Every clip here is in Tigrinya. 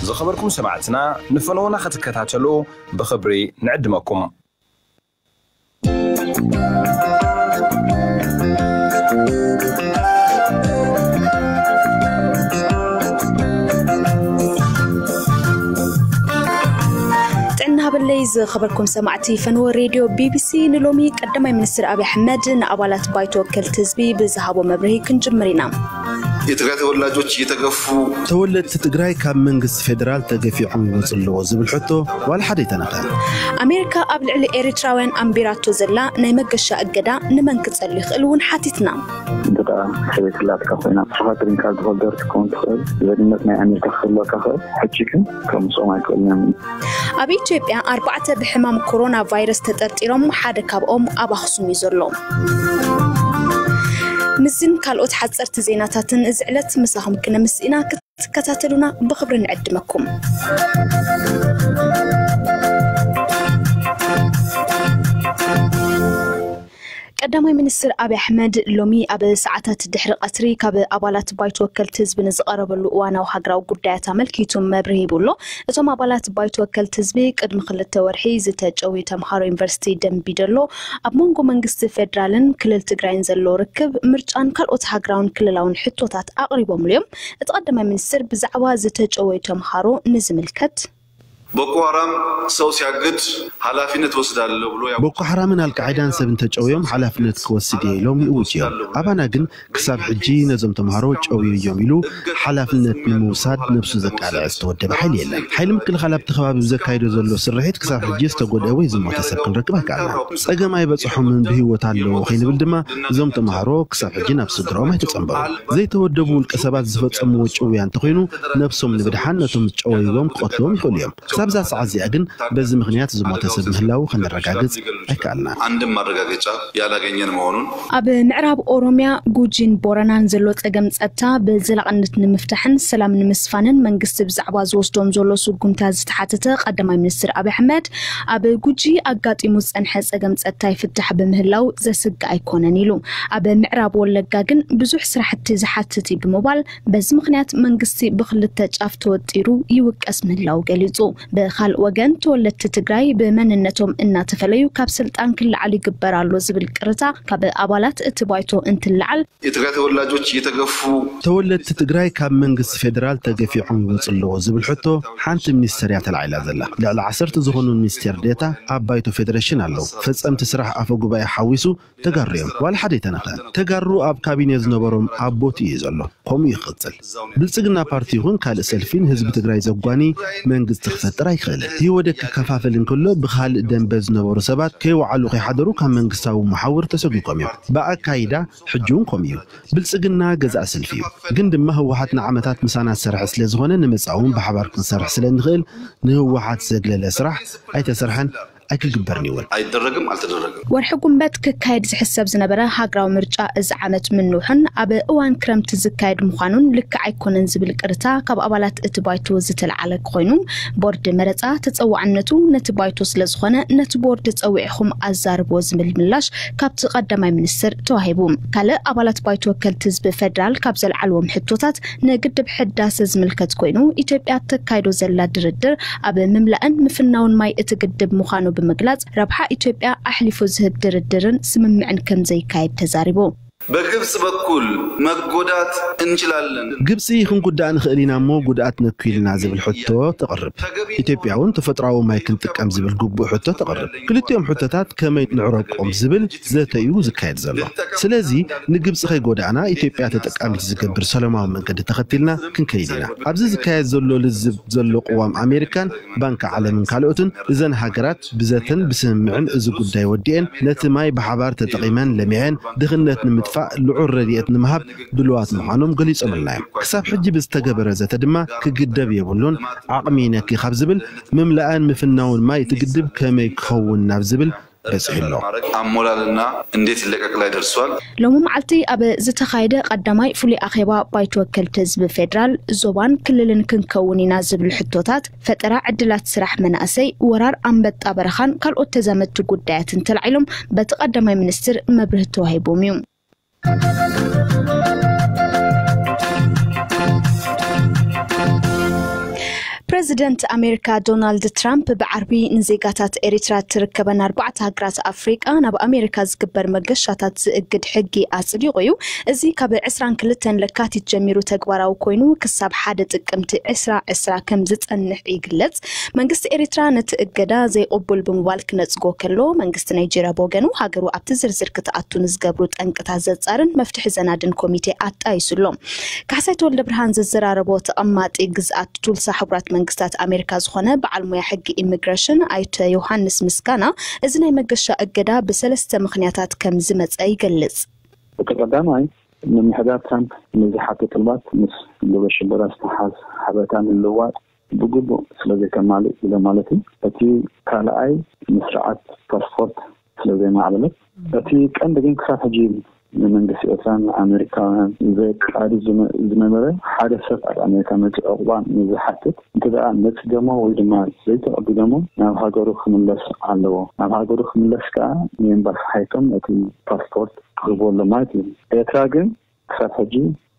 ዝኸበርኩም ሰማዕትና፣ ንፈነወና ክትከታተሉ ብኽብሪ ንዕድመኩም። ጥዕና ሃበለይ ዝኸበርኩም ሰማዕቲ ፈንወ ሬድዮ ቢቢሲ፣ ንሎሚ ቀዳማይ ሚኒስትር ኣብይ ኣሕመድ ንኣባላት ባይቶ ወከልቲ ህዝቢ ብዝሃቦ መብርሂ ክንጅምር ኢና። የትግራይ ተወላጆች እየተገፉ ተወለድቲ ትግራይ ካብ መንግስቲ ፌደራል ተገፊዖም ይወፁ ኣለዎ ዝብል ሕቶ ዋላ ሓደ ኣይተነኸ። ኣሜሪካ ኣብ ልዕሊ ኤሪትራውያን ኣንቢራቶ ዘላ ናይ መገሻ እገዳ ንመን ክጸሉ ይኽእል እውን ሓቲትና። እንተ ደኣ ሰበይቲ ላትካ ኮይና፣ ንስኻ ግሪን ካርድ ሆልደር ክትከውን ትኽእል፣ ዜግነት ናይ ኣሜሪካ ክህልወካ ክእል። ሕጂ ግን ከምስኦም ኣይክእልን እዮም። ኣብ ኢትዮጵያ ኣርባዕተ ብሕማም ኮሮና ቫይረስ ተጠርጢሮም ሓደ ካብኦም ኣብ ኣኽሱም እዩ ዘሎ። ምስን ካልኦት ሓጸርቲ ዜናታትን እዚ ዕለት ምሳኹም ክነምስ ኢና። ክትከታተሉና ብኽብሪ ንዕድመኩም። ቀዳማይ ሚኒስትር ኣብይ ኣሕመድ ሎሚ ኣብ ሰዓታት ድሕሪ ቀትሪ ካብ ኣባላት ባይቶ ወከልቲ ህዝቢ ንዝቐረበሉ እዋናዊ ሃገራዊ ጉዳያት ኣመልኪቱ መብርሂ ሂቡ ኣሎ። እቶም ኣባላት ባይቶ ወከልቲ ህዝቢ ቅድሚ ክልተ ወርሒ ዝተጨውዩ ተምሃሮ ዩኒቨርሲቲ ደምቢዶሎ ኣብ መንጎ መንግስቲ ፌዴራልን ክልል ትግራይን ዘሎ ርክብ፣ ምርጫን ካልኦት ሃገራውን ክልላውን ሕቶታት ኣቕሪቦምሉ እዮም። እቲ ቀዳማይ ሚኒስትር ብዛዕባ ዝተጨወዩ ተምሃሮ ንዝምልከት ቦኮ ሃራም ሰው ሲያግድ ኃላፊነት ወስዳለሁ ብሎ ያው ቦኮ ሓራምን ኣልቃዒዳን ሰብ እንተጨውዮም ሓላፍነት ክወስድ እየ ኢሎም ይእውጅ እዮም። ኣባና ግን ክሳብ ሕጂ ነዞም ተምሃሮ ጨውዩ እዮም ኢሉ ሓላፍነት ንምውሳድ ነብሱ ዘቃልዐ ዝተወደበ ሓይሊ የለን። ሓይሊ ምክልኻል ኣብቲ ከባቢ ብዘካይዶ ዘሎ ስርሒት ክሳብ ሕጂ ዝተጎድአ ወይ ዝሞተ ሰብ ክንረክብ ኣይከኣልናን። ጸገም ኣይበጽሖምን ብህይወት ኣለዉ ከይንብል ድማ እዞም ተምሃሮ ክሳብ ሕጂ ናብ ስድራኦም ኣይተጸንበሩን። ዘይተወደቡ ውልቀ ሰባት ዝፈጸምዎ ጭውያ እንተኾይኑ ነብሶም ንምድሓን ነቶም ዝጨወይዎም ክቐትልዎም ይኽእሉ እዮም። ክሳብ እዛ ሰዓት እዚኣ ግን በዚ ምኽንያት ዝሞተ ሰብ ምህላዉ ከነረጋግጽ ኣይከኣልናን። አንድም ማረጋገጫ ያላገኘን መሆኑን ኣብ ምዕራብ ኦሮሚያ ጉጂን ቦረናን ዘሎ ጸገም ጸጥታ ብዘላቕነት ንምፍታሕን ሰላም ንምስፋንን መንግስቲ ብዛዕባ ዝወስዶም ዘሎ ስጉምታት ዝተሓተተ ቀዳማይ ሚኒስትር ኣብይ ኣሕመድ፣ ኣብ ጉጂ ኣጋጢሙ ዝጸንሐ ጸገም ጸጥታ ይፍታሕ ብምህላው ዘስግእ ኣይኮነን ኢሉ። ኣብ ምዕራብ ወለጋ ግን ብዙሕ ስራሕቲ ዝሓትት እዩ ብምባል፣ በዚ ምኽንያት መንግስቲ ብኽልተ ጫፍ ተወጢሩ ይውቀስ ምህላው ገሊጹ። ብኻልእ ወገን ተወለድቲ ትግራይ ብመንነቶም እናተፈለዩ ካብ ስልጣን ክለዓሉ ይግበር ኣሎ ዝብል ቅርታ ካብ ኣባላት እቲ ባይቶ እንትለዓል፣ የትግራይ ተወላጆች እየተገፉ ተወለድቲ ትግራይ ካብ መንግስቲ ፌደራል ተገፊዖም ይወፁ ኣለዎ ዝብል ሕቶ ሓንቲ ሚኒስተር እያ ተላዒላ ዘላ። ልዕሊ ዓሰርተ ዝኾኑ ሚኒስቴር ዴታ ኣብ ባይቶ ፌደሬሽን ኣለዉ። ፈፀምቲ ስራሕ ኣፈ ጉባኤ ሓዊሱ ተጋሩ እዮም። ዋላ ሓደ ኣይተነኸ። ተጋሩ ኣብ ካቢኔ ዝነበሮም ኣብ ቦትኡ እዩ ዘሎ። ከምኡ ይቕፅል። ብልፅግና ፓርቲ ይኹን ካልእ ሰልፊ ንህዝቢ ትግራይ ዘጓኒ መንግስቲ ክፈጥር ኣይክእልን። ህወደግ ክከፋፈል እንከሎ ብኻልእ ደንበ ዝነበሩ ሰባት ከይወዓሉ ከይሓደሩ ካብ መንግስታዊ መሓውር ተሰጒጎም እዮም። ብኣካይዳ ሕጂ እውን ከምኡ እዩ። ብልፅግና ገዛእ ሰልፊ እዩ። ግን ድማ ህወሓት ንዓመታት ምሳና ዝሰርሐ ስለ ዝኾነ ንመጻኢ እውን ብሓባር ክንሰርሕ ስለ እንኽእል ንህወሓት ዘግለለ ስራሕ ኣይተሰርሐን ኣይክግበርን ይውን። አይደረግም፣ አልተደረገም። ወርሒ ጉንበት ክካየድ ዝሕሰብ ዝነበረ ሃገራዊ ምርጫ እዚ ዓመት ምንውሑን ኣብ እዋን ክረምቲ ዝካየድ ምዃኑን ልክዕ ኣይኮነን ዝብል ቅርታ ካብ ኣባላት እቲ ባይቶ ዝተለዓለ ኮይኑ፣ ቦርድ መረፃ ተፀዋዕነቱ ነቲ ባይቶ ስለ ዝኾነ ነቲ ቦርድ ፀዊዕኹም ኣዛርቦ ዝብል ምላሽ ካብቲ ቀዳማይ ሚኒስትር ተዋሂቡ። ካልእ ኣባላት ባይቶ ወከልቲ ህዝቢ ፌደራል ካብ ዘልዓልዎም ሕቶታት ንግድብ ሕዳሰ ዝምልከት ኮይኑ፣ ኢትዮጵያ ተካይዶ ዘላ ድርድር ኣብ ምምላእን ምፍናውን ማይ እቲ ግድብ ምዃኑ ብምግላጽ፣ ረብሓ ኢትዮጵያ ኣሕሊፉ ዝህብ ድርድርን ስምምዕን ከም ዘይካየድ ተዛሪቡ። በግብጽ በኩል መጎዳት እንችላለን። ግብፂ ክንጉዳእ ንኽእል ኢና እሞ ጉድኣት ነኩ ኢልና ዝብል ሕቶ ተቕርብ። ኢትዮጵያ እውን ተፈጥሮኣዊ ማይ ክንጥቀም ዝብል ግቡእ ሕቶ ተቕርብ። ክልቲኦም ሕቶታት ከመይ ንዕረቆም ዝብል ዘተ እዩ ዝካየድ ዘሎ። ስለዚ ንግብፂ ከይጎዳእና ኢትዮጵያ ተጠቃሚት ዝገብር ሰላማዊ መንገዲ ተኸቲልና ክንከይድ ኢና። ኣብዚ ዝካየድ ዘሎ ልዝብ ዘሎ ቅዋም ኣሜሪካን ባንኪ ዓለምን ካልኦትን እዘን ሃገራት ብዘተን ብስምምዕን እዚ ጉዳይ ወዲኤን ነቲ ማይ ብሓባር ተጠቒመን ለሚዐን ድኽነት ንምጥፋእ ልዑል ረድኤት ንምሃብ ድሉዋት ምዃኖም ገሊጾምልና እዮም። ክሳብ ሕጂ ብዝተገበረ ዘተ ድማ ክግደብ የብሉን፣ ዓቕሚ ይነኪ ካብ ዝብል ምምላእን ምፍናውን ማይ እቲ ግድብ ከመይ ክኸውን ናብ ዝብል በጺሑ ኣሎ። አሞላልና እንዴት ይለቀቅ ላይ ደርሷል። ሎሚ መዓልቲ ኣብ ዝተኻየደ ቀዳማይ ፍሉይ ኣኼባ ባይቶ ወከልቲ ህዝቢ ፌደራል ዞባን ክልልን ክንከውን ኢና ዝብል ሕቶታት፣ ፈጠራ ዕድላት ስራሕ መናእሰይ፣ ወራር ኣንበጣ በረኻን ካልኦት ተዛመድቲ ጉዳያትን ተላዒሎም በቲ ቀዳማይ ሚኒስትር መብርሂ ተዋሂቦም እዩ። ፕረዚደንት ኣሜሪካ ዶናልድ ትራምፕ ብዓርቢ ንዜጋታት ኤሪትራ ትርከበን ኣርባዕተ ሃገራት ኣፍሪቃ ናብ ኣሜሪካ ዝግበር መገሻታት ዝእግድ ሕጊ ኣጽዲቑ እዩ። እዚ ካብ ዕስራን ክልተን ለካቲት ጀሚሩ ተግባራዊ ኮይኑ ክሳብ ሓደ ጥቅምቲ ዕስራ ዕስራ ከም ዝጸንሕ ይግለጽ። መንግስቲ ኤሪትራ ነቲ እገዳ ዘይቕቡል ብምባል ክነጽጎ ከሎ፣ መንግስቲ ናይጄርያ ብወገኑ ሃገሩ ኣብቲ ዝርዝር ክትኣቱ ንዝገብሩ ጠንቅታት ዘጻርን መፍትሒ ዘናድን ኮሚቴ ኣጣይሱ ኣሎ። ካሕሳይ ተወልደ ብርሃን ዘዘራረቦ ተቐማጢ ግዝኣት ቱልሳ ሕቡራት መንግስታት ኣሜሪካ ዝኾነ በዓል ሞያ ሕጊ ኢሚግሬሽን ኣይተ ዮሃንስ ምስጋና፣ እዚ ናይ መገሻ እገዳ ብሰለስተ ምኽንያታት ከም ዝመጸ ይገልጽ። እቲ ቀዳማይ፣ ምምሕዳር ትራምፕ ንዝሓቶ ጥልባት ምስ ግብረ ሽበራ ዝተሓዝ ሓበሬታ ምልውዋጥ ብግቡእ ስለ ዘይተማልእ ኢለ ማለት እዩ። እቲ ካልኣይ፣ ንስርዓት ፓስፖርት ስለ ዘይማዕበለት። እቲ ቀንዲ ግን ክሳብ ሕጂ ንመንግስቲ ኤርትራን ኣሜሪካውያን ዘቃሪ ዝመ-፣ ዝነበረ፣ ሓደ ሰብ ኣብ ኣሜሪካ መፂኡ ዕቑባ ንዝሓትት እንተ ደኣ ነፂጎሞ ወይ ድማ ዘይተቐቢሎሞ ናብ ሃገሩ ክምለስ ኣለዎ። ናብ ሃገሩ ክምለስ ከኣ ንኤምባሲ ሓይቶም እቲ ፓስፖርት ክህቦ ኣሎ ማለት እዩ። ኤርትራ ግን ክሳብ ሕጂ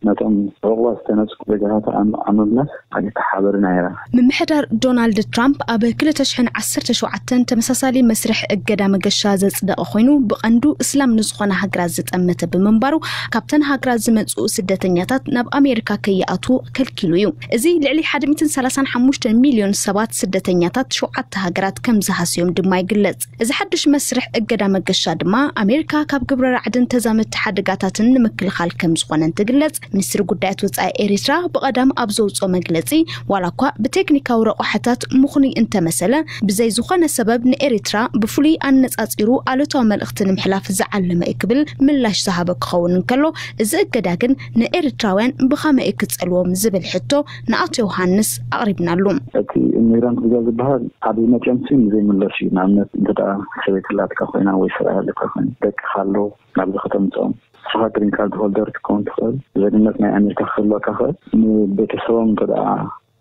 ነቶም ዕቑባ ዝተነጽጉ ዜጋታታ ኣብ፣ ኣብ ምምላስ ኣይተሓበርን እያ። ምምሕዳር ዶናልድ ትራምፕ ኣብ ክልተ ሽሕን ዓሰርተ ሸውዓተን ተመሳሳሊ መስርሕ እገዳ መገሻ ዘጽደቐ ኮይኑ፣ ብቐንዱ እስላም ንዝኾና ሃገራት ዝጠመተ ብምንባሩ፣ ካብተን ሃገራት ዝመጽኡ ስደተኛታት ናብ ኣሜሪካ ከይኣትዉ ከልኪሉ እዩ። እዚ ልዕሊ ሓደ ሚእትን ሰላሳን ሓሙሽተ ሚልዮን ሰባት ስደተኛታት ሸውዓተ ሃገራት ከም ዝሃስዮም ድማ ይግለጽ። እዚ ሓድሽ መስርሕ እገዳ መገሻ ድማ ኣሜሪካ ካብ ግብረ ራዕድን ተዛመድቲ ሓደጋታትን ንምክልኻል ከም ዝኾነ እንትግለጽ፣ ሚኒስትሪ ጉዳያት ወጻኢ ኤሪትራ ብቐዳም ኣብ ዘውጽኦ መግለጺ፣ ዋላ እኳ ብቴክኒካዊ ረቋሕታት ምኽኑይ እንተመሰለ፣ ብዘይ ዝኾነ ሰበብ ንኤሪትራ ብፍሉይ ኣነጻጺሩ ኣሉታዊ መልእኽቲ ንምሕላፍ ዝዓለመ እዩ ክብል ምላሽ ዝሃበ ክኸውን እንከሎ፣ እዚ እገዳ ግን ንኤሪትራውያን ብኸመይ እዩ ክጸልዎም ዝብል ሕቶ ንኣቶ ዮሃንስ ኣቕሪብናሉ። እቲ ኢሚግራንት ቪዛ ዝበሃል ኣብ ዝመፅኦም ሲ ንዘይምለስ እዩ። ንኣብነት እንተ ደኣ ሰበይቲ ኣላትካ ኮይና ወይ ሰብኣይ ኣለካ ኮይኑ ደቅኻ ኣለዉ ናብዚ ከተምፅኦም፣ ንስኻ ግሪን ካርድ ሆልደር ክትከውን ትኽእል፣ ዜግነት ናይ ኣሜሪካ ክህልወካ ይኽእል። ንቤተሰቦም እንተ ደኣ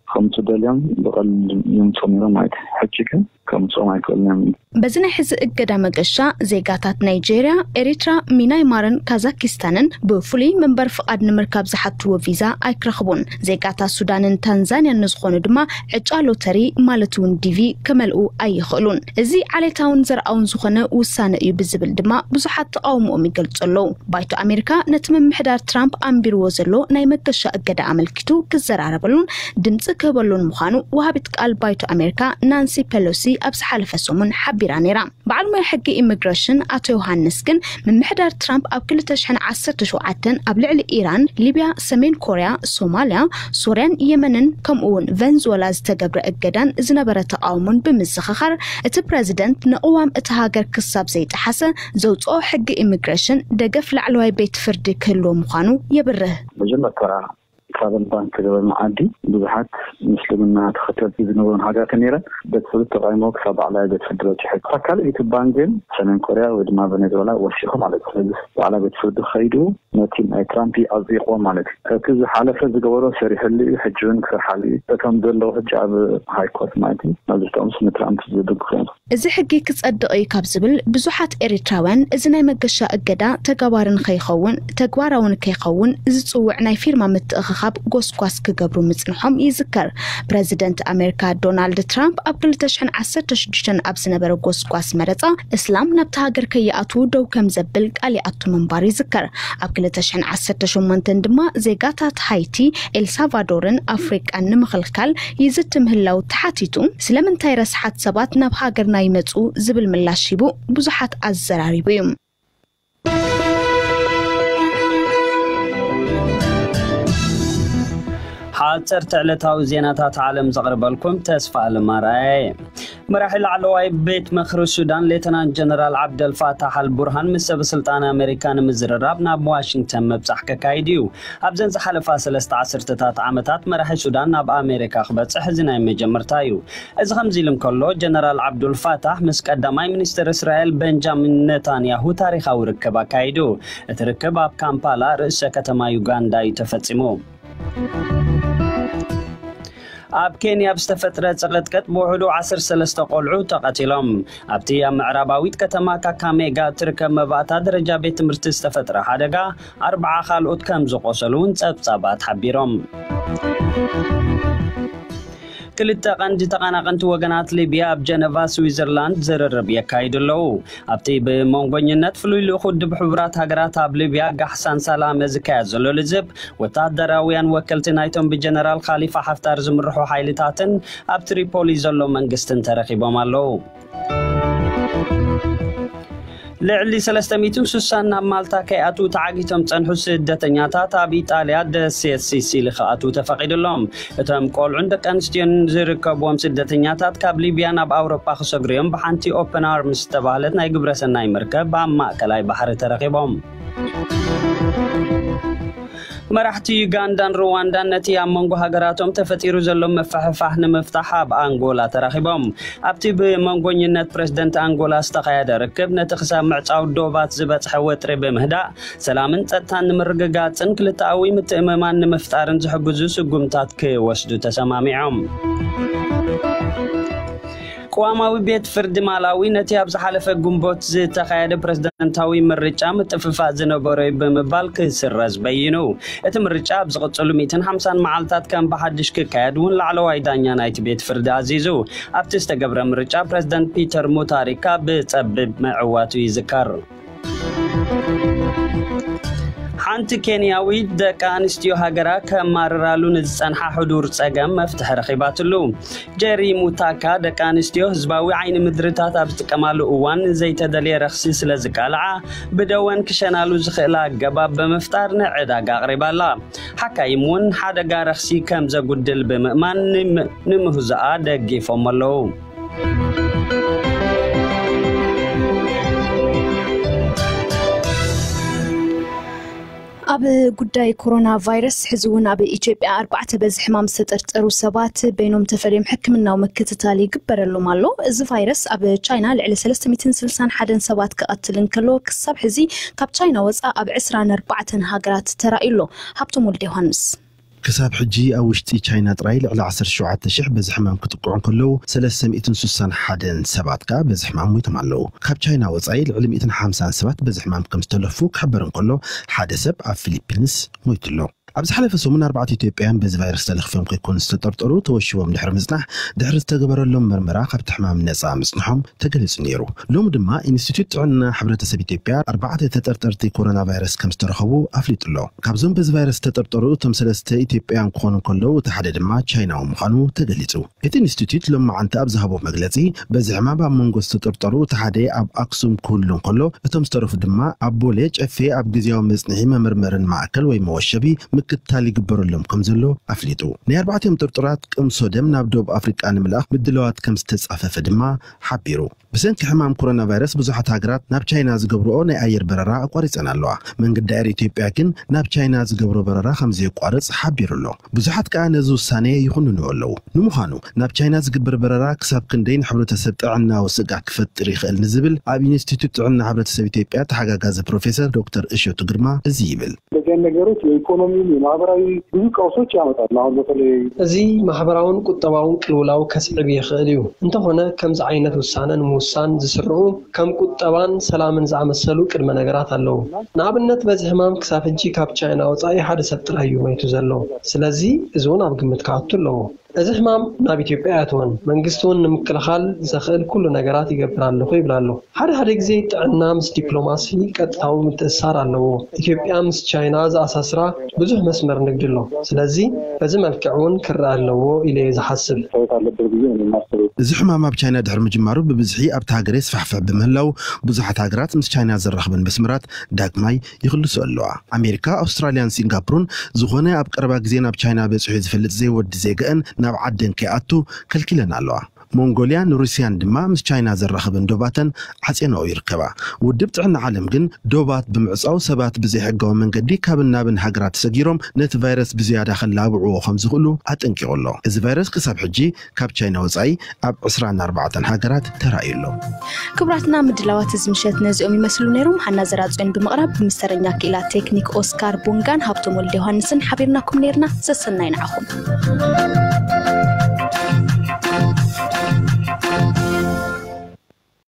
ከምፁ ደልዮም ብቐሊሉ ይምፅኡ ነይሮም ማለት እዩ። ሕጂ ግን ከምፅኦም ኣይክእሉን እዮም። በዚ ናይ ሕዚ እገዳ መገሻ ዜጋታት ናይጄርያ፣ ኤሪትራ፣ ሚናይማርን ካዛኪስታንን ብፍሉይ መንበር ፍቓድ ንምርካብ ዝሓትዎ ቪዛ ኣይክረኽቡን። ዜጋታት ሱዳንን ታንዛንያን ንዝኾኑ ድማ ዕጫ ሎተሪ ማለት እውን ዲቪ ከመልኡ ኣይኽእሉን። እዚ ዓሌታውን ዘርኣውን ዝኾነ ውሳነ እዩ ብዝብል ድማ ብዙሓት ተቓውሞኦም ይገልጹ ኣለዉ። ባይቶ ኣሜሪካ ነቲ ምምሕዳር ትራምፕ ኣንቢርዎ ዘሎ ናይ መገሻ እገዳ ኣመልኪቱ ክዘራረበሉን ድምጺ ክህበሉን ምዃኑ ወሃቢት ቃል ባይቶ ኣሜሪካ ናንሲ ፔሎሲ ኣብ ዝሓለፈ ሰሙን ሓቢራ ነይራ። በዓል ሞያ ሕጊ ኢሚግሬሽን ኣቶ ዮሃንስ ግን፣ ምምሕዳር ትራምፕ ኣብ ክልተ ሽሕን ዓሰርተ ሸውዓተን ኣብ ልዕሊ ኢራን፣ ሊብያ፣ ሰሜን ኮርያ፣ ሶማልያ፣ ሶርያን የመንን ከምኡ እውን ቨንዙወላ ዝተገብረ እገዳን ዝነበረ ተቓውሞን ብምዝኽኻር፣ እቲ ፕረዚደንት ንቅዋም እታ ሃገር ክሳብ ዘይጠሓሰ ዘውፅኦ ሕጊ ኢሚግሬሽን ደገፍ ላዕለዋይ ቤት ፍርዲ ክህልዎ ምዃኑ የብርህ። መጀመርታ ትራቨል ባን ዝተገበረ መዓዲ ብዙሓት ምስልምና ተኸተልቲ ዝነበሩን ሃገራት ነይረን። ቤት ፍርዲ ተቃይሞ ክሳብ ላዕለዋይ ቤት ፍርዲ በፂሑ። እታ ካልኣይቲ ባን ግን ሰሜን ኮርያ ወይ ድማ ቬኔዙዌላ ወሲኹ ማለት እዩ። ስለዚ ላዕለዋይ ቤት ፍርዲ ከይዱ ነቲ ናይ ትራምፕ ኣጽዲቕዎ ማለት እዩ። እቲ ዝሓለፈ ዝገበሮ ሰሪሕሉ እዩ፣ ሕጂ እውን ክሰርሓሉ እዩ። እቶም ዘለዉ ሕጂ ኣብ ሃይ ኮርት ማለት እዩ፣ መብዛሕትኦምስ ንትራምፕ ዝድግፉ እዮም። እዚ ሕጊ ክጸድቕ እዩ ካብ ዝብል ብዙሓት ኤሪትራውያን፣ እዚ ናይ መገሻ እገዳ ተጋባሪ ንኸይኸውን፣ ተግባራዊ ንከይኸውን ዝጽውዕ ናይ ፊርማ ምትእኽኻብ ጎስጓስ ክገብሩ ምጽንሖም ይዝከር። ፕረዚደንት ኣሜሪካ ዶናልድ ትራምፕ ኣብ ክልተ ሽሕን ዓሰርተ ሽዱሽተን ኣብ ዝነበረ ጎስጓስ መረጻ፣ እስላም ናብታ ሃገር ከይኣትዉ ደው ከም ዘብል ቃል ይኣቱ ምንባሩ ይዝከር። ኣብ ክልተ ሽሕን ዓሰርተ ሸሞንተን ድማ ዜጋታት ሃይቲ፣ ኤልሳልቫዶርን ኣፍሪቃን ንምኽልካል ይዝቲ ምህላው ተሓቲቱ፣ ስለምንታይ ረስሓት ሰባት ናብ ሃገርና ይመጹ ዝብል ምላሽ ሂቡ ብዙሓት ኣዘራሪቡ እዩ። ሓፀርቲ ዕለታዊ ዜናታት ዓለም ዘቕርበልኩም ተስፋ ኣለማርኣየ። መራሒ ላዕለዋይ ቤት ምኽሪ ሱዳን ሌተናንት ጀነራል ዓብደልፋታሕ ኣልቡርሃን ምስ ሰበ ስልጣን ኣሜሪካ ንምዝርራብ ናብ ዋሽንግተን ምብጻሕ ከካይድ እዩ። ኣብዘን ዝሓለፋ ሰለስተ ዓሰርተታት ዓመታት መራሒ ሱዳን ናብ ኣሜሪካ ክበጽሕ እዚ ናይ መጀመርታ እዩ። እዚ ከምዚ ኢሉ እንከሎ፣ ጀነራል ዓብዱልፋታሕ ምስ ቀዳማይ ሚኒስትር እስራኤል ቤንጃሚን ኔታንያሁ ታሪኻዊ ርክብ ኣካይዱ። እቲ ርክብ ኣብ ካምፓላ፣ ርእሰ ከተማ ዩጋንዳ እዩ ተፈጺሙ። ኣብ ኬንያ ብዝተፈጥረ ጽቕጥቅጥ ብውሕዱ ዓሰርተ ሰለስተ ቆልዑ ተቐቲሎም። ኣብቲ ኣብ ምዕራባዊት ከተማ ካካሜጋ እትርከብ መባእታ ደረጃ ቤት ትምህርቲ ዝተፈጥረ ሓደጋ፣ ኣርብዓ ካልኦት ከም ዝቖሰሉ እውን ጸብጻባት ሓቢሮም። ክልተ ቀንዲ ተቐናቐንቲ ወገናት ሊብያ ኣብ ጀነቫ ስዊዘርላንድ ዝርርብ የካይዱ ኣለዉ። ኣብቲ ብመንጎኝነት ፍሉይ ልኡኽ ውድብ ሕቡራት ሃገራት ኣብ ሊብያ ጋሕሳን ሳላመ ዝካየድ ዘሎ ልዝብ፣ ወታደራውያን ወከልቲ ናይቶም ብጀነራል ካሊፋ ሓፍታር ዝምርሑ ሓይልታትን ኣብ ትሪፖሊ ዘሎ መንግስትን ተረኺቦም ኣለዉ። ልዕሊ ሰለስተ ሚእትን ስሳን ናብ ማልታ ከይኣትዉ ተዓጊቶም ዝጸንሑ ስደተኛታት ኣብ ኢጣልያ ደሴት ሲሲሊ ክኣትዉ ተፈቒዱሎም። እቶም ቆልዑን ደቂ ኣንስትዮን ዝርከብዎም ስደተኛታት ካብ ሊብያ ናብ ኣውሮጳ ክሰግሩ እዮም ብሓንቲ ኦፕን ኣርምስ ዝተባህለት ናይ ግብረሰናይ መርከብ ኣብ ማእከላይ ባሕሪ ተረኺቦም። መራሕቲ ዩጋንዳን ሩዋንዳን ነቲ ኣብ መንጎ ሃገራቶም ተፈጢሩ ዘሎ ምፍሕፋሕ ንምፍታሕ ኣብ ኣንጎላ ተራኺቦም። ኣብቲ ብመንጎኝነት ፕረዚደንት ኣንጎላ ዝተኻየደ ርክብ፣ ነቲ ክሳብ ምዕጻው ዶባት ዝበጽሐ ወጥሪ ብምህዳእ፣ ሰላምን ጸጥታን ንምርግጋጽን ክልተኣዊ ምትእምማን ንምፍጣርን ዝሕግዙ ስጉምታት ክወስዱ ተሰማሚዖም። ቅዋማዊ ቤት ፍርዲ ማላዊ ነቲ ኣብ ዝሓለፈ ግንቦት ዝተኻየደ ፕረዚደንታዊ ምርጫ ምጥፍፋእ ዝነበሮ እዩ ብምባል ክስረዝ በይኑ። እቲ ምርጫ ኣብ ዝቕጽሉ ሚእትን ሓምሳን መዓልታት ከም ብሓድሽ ክካየድ እውን ላዕለዋይ ዳኛ ናይቲ ቤት ፍርዲ ኣዚዙ። ኣብቲ ዝተገብረ ምርጫ ፕረዚደንት ፒተር ሙታሪካ ብጸቢብ ምዕዋቱ ይዝከር። ሓንቲ ኬንያዊት ደቂ ኣንስትዮ ሃገራ ከማርራሉ ንዝጸንሓ ሕዱር ጸገም መፍትሒ ረኺባትሉ። ጀሪ ሙታካ፣ ደቂ ኣንስትዮ ህዝባዊ ዓይኒ ምድርታት ኣብ ዝጥቀማሉ እዋን ዘይተደልየ ረኽሲ ስለ ዝቃልዓ፣ ብደወን ክሸናሉ ዝኽእላ ኣገባብ ብምፍጣር ንዕዳጋ ኣቕሪባላ። ሓካይም እውን ሓደጋ ረኽሲ ከም ዘጉድል ብምእማን ንም-፣ ንምህዞኣ ደጊፎም ኣለዉ። ኣብ ጉዳይ ኮሮና ቫይረስ፣ ሕዚ እውን ኣብ ኢትዮጵያ ኣርባዕተ በዚ ሕማም ዝተጠርጠሩ ሰባት በይኖም ተፈልዮም ሕክምናዊ ምክትታል ይግበረሎም ኣሎ። እዚ ቫይረስ ኣብ ቻይና ልዕሊ ሰለስተ ሚእትን ስልሳን ሓደን ሰባት ክቐትል እንከሎ፣ ክሳብ ሕዚ ካብ ቻይና ወፃእ ኣብ ዕስራን ኣርባዕተን ሃገራት ተራእዩ ኣሎ። ሃብቶም ወልደ ዮሃንስ። ክሳብ ሕጂ ኣብ ውሽጢ ቻይና ጥራይ ልዕሊ ዓሰርተ ሸውዓተ ሽሕ በዚ ሕማም ክጥቅዑ እንከለዉ፣ ሰለስተ ሚእትን ስሳን ሓደን ሰባት ከኣ በዚ ሕማም ሞይቶም ኣለዉ። ካብ ቻይና ወጻኢ ልዕሊ ሚእትን ሓምሳን ሰባት በዚ ሕማም ከም ዝተለፉ ክሕበር እንከሎ፣ ሓደ ሰብ ኣብ ፊሊፒንስ ሞይቱ ኣሎ። ኣብ ዝሓለፈ ሰሙን ኣርባዕተ ኢትዮጵያውያን በዚ ቫይረስ ተለኺፎም ከይኮኑ ዝተጠርጠሩ ተወሺቦም ድሕሪ ምጽናሕ፣ ድሕሪ ዝተገበረሎም መርመራ ካብቲ ሕማም ነጻ ምጽንሖም ተገሊጹ ነይሩ። ሎሚ ድማ ኢንስቲትዩት ጥዕና ሕብረተሰብ ኢትዮጵያ ኣርባዕተ ተጠርጠርቲ ኮሮና ቫይረስ ከም ዝተረኸቡ ኣፍሊጡ ኣሎ። ካብዞም በዚ ቫይረስ ዝተጠርጠሩ እቶም ሰለስተ ኢትዮጵያውያን ክኾኑ እንከለዉ፣ እቲ ሓደ ድማ ቻይናዊ ምዃኑ ተገሊጹ። እቲ ኢንስቲትዩት ሎማዓንቲ ኣብ ዝሃቦ መግለጺ፣ በዚ ሕማም ኣብ መንጎ ዝተጠርጠሩ እቲ ሓደ ኣብ ኣክሱም ክህሉ እንከሎ፣ እቶም ዝተረፉ ድማ ኣብ ቦሌ ጨፌ ኣብ ግዝያዊ መጽንሒ መመርመርን ማእከል ወይ መወሸቢ ምክትታል ይግበረሎም ከም ዘሎ ኣፍሊጡ። ናይ ኣርባዕቲኦም ጥርጡራት ቅምሶ ደም ናብ ደቡብ ኣፍሪቃ ንምልኣኽ ምድላዋት ከም ዝተጻፈፈ ድማ ሓቢሩ። ብሰንኪ ሕማም ኮሮና ቫይረስ ብዙሓት ሃገራት ናብ ቻይና ዝገብርኦ ናይ ኣየር በረራ ኣቋሪጸን ኣለዋ። መንገዲ ኣየር ኢትዮጵያ ግን ናብ ቻይና ዝገብሮ በረራ ከም ዘየቋርጽ ሓቢሩ ኣሎ። ብዙሓት ከኣ ነዚ ውሳኔ ይኹንንዎ ኣለዉ። ንምዃኑ ናብ ቻይና ዝግበር በረራ ክሳብ ክንደይ ንሕብረተሰብ ጥዕናዊ ስግኣት ክፈጥር ይኽእል ንዝብል ኣብ ኢንስቲትዩት ጥዕና ሕብረተሰብ ኢትዮጵያ ተሓጋጋዚ ፕሮፌሰር ዶክተር እሸቱ ግርማ እዚ ይብል። እንደዚህ አይነት ነገሮች የኢኮኖሚ፣ የማህበራዊ ብዙ ቀውሶች ያመጣሉ። አሁን በተለይ እዚ ማሕበራውን ቁጠባውን ቅልውላው ከስዕብ ይኽእል እዩ። እንተኾነ ከምዚ ዓይነት ውሳነ ንምውሳን ዝስርዑ ከም ቁጠባን ሰላምን ዝኣመሰሉ ቅድመ ነገራት ኣለዉ። ንኣብነት በዚ ሕማም ክሳብ ሕጂ ካብ ቻይና ወጻኢ ሓደ ሰብ ጥራይ እዩ ሞይቱ ዘሎ። ስለዚ እዚ እውን ኣብ ግምት ክኣቱ ኣለዎ። እዚ ሕማም ናብ ኢትዮጵያ ኣይኣተወን። መንግስቲ እውን ንምክልኻል ዘኽእል ኩሉ ነገራት ይገብር ኣለኹ ይብል ኣሎ። ሓደ ሓደ ግዜ ጥዕና ምስ ዲፕሎማሲ ቀጥታዊ ምትእስሳር ኣለዎ። ኢትዮጵያ ምስ ቻይና ዝኣሳስራ ብዙሕ መስመር ንግዲ ኣሎ። ስለዚ በዚ መልክዕ እውን ክረኣ ኣለዎ ኢለ እየ ዝሓስብ። መታየት አለበት ብዬ ነው የማስበው። እዚ ሕማም ኣብ ቻይና ድሕሪ ምጅማሩ ብብዝሒ ኣብቲ ሃገር የስፋሕፍሕ ብምህላው ብዙሓት ሃገራት ምስ ቻይና ዘራኽበን መስመራት ዳግማይ ይኽልሱ ኣለዋ። ኣሜሪካ፣ ኣውስትራልያን ሲንጋፖርን ዝኾነ ኣብ ቀረባ ግዜ ናብ ቻይና በጺሑ ዝፈልጥ ዘይወዲ ዜግአን ናብ ዓደን ከይኣቱ ከልኪለን ኣለዋ። ሞንጎልያን ሩስያን ድማ ምስ ቻይና ዘራኽበን ዶባተን ዓጽየንኦ ይርከባ። ውድብ ጥዕና ዓለም ግን ዶባት ብምዕጻው ሰባት ብዘይሕጋዊ መንገዲ ካብን ናብን ሃገራት ሰጊሮም ነቲ ቫይረስ ብዝያዳ ከላብዕዎ ከም ዝኽእሉ ኣጠንቂቑ ኣሎ። እዚ ቫይረስ ክሳብ ሕጂ ካብ ቻይና ወጻኢ ኣብ ዕስራን ኣርባዕተን ሃገራት ተራእዩ ኣሎ። ክቡራትና ምድላዋት እዚ ምሸት ነዚኦም ይመስሉ ነይሮም። ሃና ዘራጽዮን ብምቕራብ ብምስተረኛ ክኢላ ቴክኒክ ኦስካር ቦንጋን ሃብቶም ወልደ ዮሃንስን ሓቢርናኩም ነይርና። ሰሰናይ ንዓኹም።